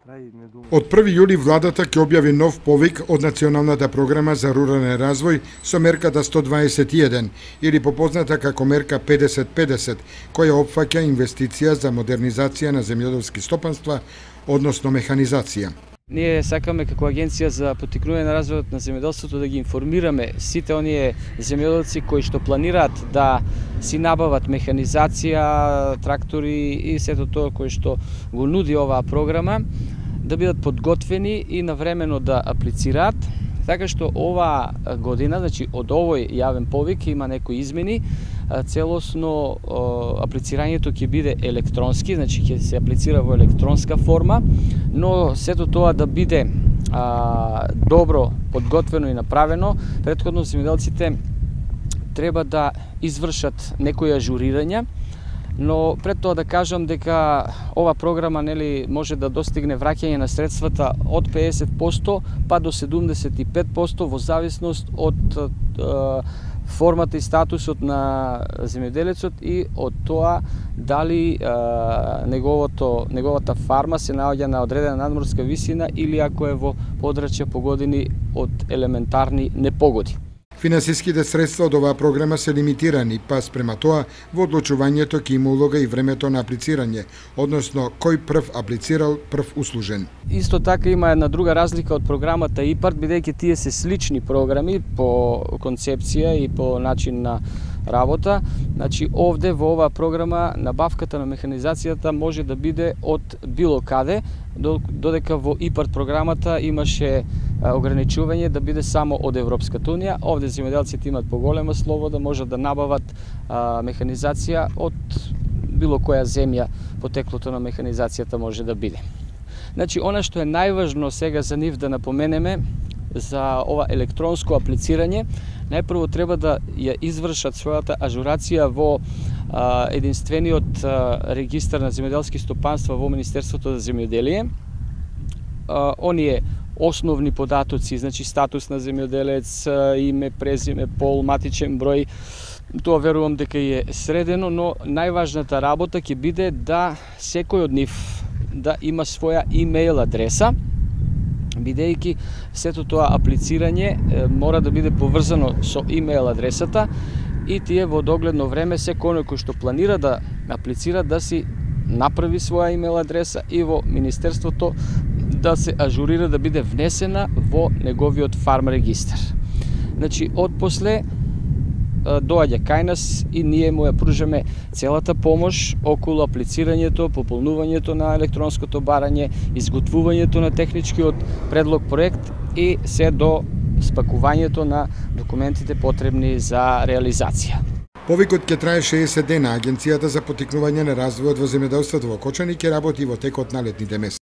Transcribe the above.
Од 1 јули владата ќе објави нов повик од Националната програма за рурален развој со мерката 121 или попозната како мерка 50-50, која опфаќа инвестиција за модернизација на земјоделски стопанства, односно механизација. Ние сакаме како агенција за поттикнување на развојот на земјоделството да ги информираме сите оние земјоделци кои што планираат да си набават механизација, трактори и сето тоа кој што го нуди оваа програма, да бидат подготвени и навремено да аплицираат, така што оваа година, значи од овој јавен повик има некои измени. Целосно аплицирањето ќе биде електронски, значи ќе се аплицира во електронска форма, но сето тоа да биде добро подготвено и направено. Претходно земјоделците треба да извршат некои ажурирања, но пред тоа да кажам дека ова програма може да достигне враќање на средствата од 50% па до 75% во зависност од формата и статусот на земјоделецот и од тоа дали неговата фарма се наоѓа на одредена надморска висина или ако е во подрачја погодени од елементарни непогоди. Финансиските средства од оваа програма се лимитирани, па спрема тоа во одлучувањето ќе има улога и времето на аплицирање, односно кој прв аплицирал, прв услужен. Исто така има една друга разлика од програмата ИПАРД, бидејќи тие се слични програми по концепција и по начин на работа. Значи овде во оваа програма набавката на механизацијата може да биде од било каде, додека во ИПАРД програмата имаше ограничување да биде само од Европската унија. Овде земјоделците имаат поголема слобода, можат да набават механизација од било која земја, потеклото на механизацијата може да биде. Значи, она што е најважно сега за нив да напоменеме за ова електронско аплицирање, најпрво треба да ја извршат својата ажурација во единствениот регистар на земјоделски стопанства во Министерството за земјоделие. Оние основни податоци, значи статус на земјоделец, име, презиме, пол, матичен број, тоа верувам дека е средено, но најважната работа ќе биде да секој од нив да има своја имейл адреса, бидејќи сето тоа аплицирање мора да биде поврзано со имейл адресата и тие во догледно време секој кој што планира да аплицира да си направи своја имейл адреса и во Министерството да се ажурира да биде внесена во неговиот фарм регистар. Значи, отпосле доаѓа кај нас и ние му ја пружаме целата помош околу аплицирањето, пополнувањето на електронското барање, изготвувањето на техничкиот предлог проект и се до спакувањето на документите потребни за реализација. Повикот ќе трае 60 дена. Агенцијата за поттикнување на развојот во земјоделството во Кочани ќе работи во текот на летните месеци.